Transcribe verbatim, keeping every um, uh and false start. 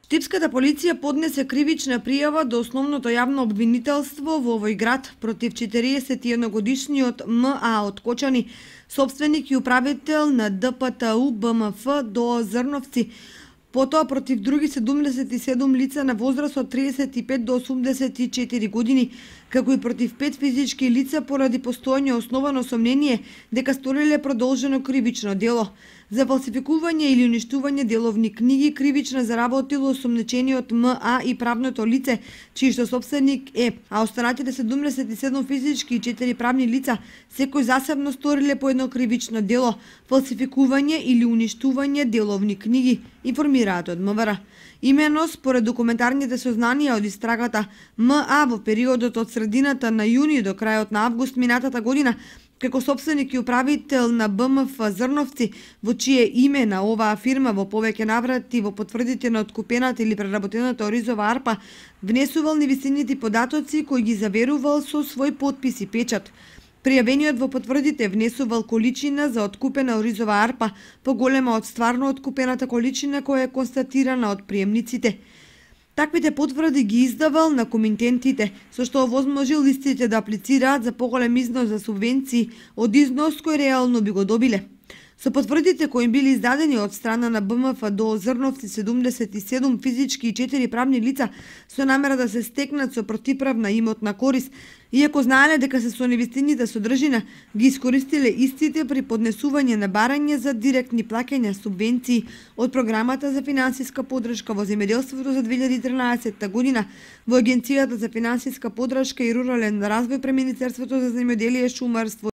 Штипската полиција поднесе кривична пријава до основното јавно обвинителство во овој град против четириесет и едногодишниот М А од Кочани, сопственик и управител на Д П Т У Б М Ф до Зрновци, потоа против други седумдесет и седум лица на возраст од триесет и пет до осумдесет и четири години, како и против пет физички лица поради постоење основано сомнение дека сториле продолжено кривично дело. За фалсификување или уништување деловни книги кривично заработило осомнечениот М А и правното лице, чиј што сопственик е, а останатите седумдесет и седум физички и четири правни лица секој засебно сториле по едно кривично дело, фалсификување или уништување деловни книги, информираат од М В Р. Имено, според документарните сознанија од истрагата, М А во периодот од средината на јуни до крајот на август минатата година, како сопственик и управител на Б М Ф Зрновци, во чие име на оваа фирма во повеќе наврати во потврдите на откупената или преработената оризова арпа, внесувал невистинити податоци кои ги заверувал со свој подпис и печат. Пријавениот во потврдите внесувал количина за откупена оризова арпа поголема од стварно откупената количина која е констатирана од приемниците. Таквите потврди ги издавал на комитентите, со што овозможил истите да аплицираат за поголем износ за субвенции од износ кој реално би го добиле. Со потврдите кои им били издадени од страна на Б М Ф до Зрновци седумдесет и седум физички и четири правни лица со намера да се стекнат со противправна имотна корис, иако знаеле дека се со невистините содржина, ги искористиле истите при поднесување на барање за директни плаќања субвенции од програмата за финансиска поддршка во земјоделството за две илјади и тринаесетта година во Агенцијата за финансиска поддршка и рурален развој при Министерството за земјоделие, шумарство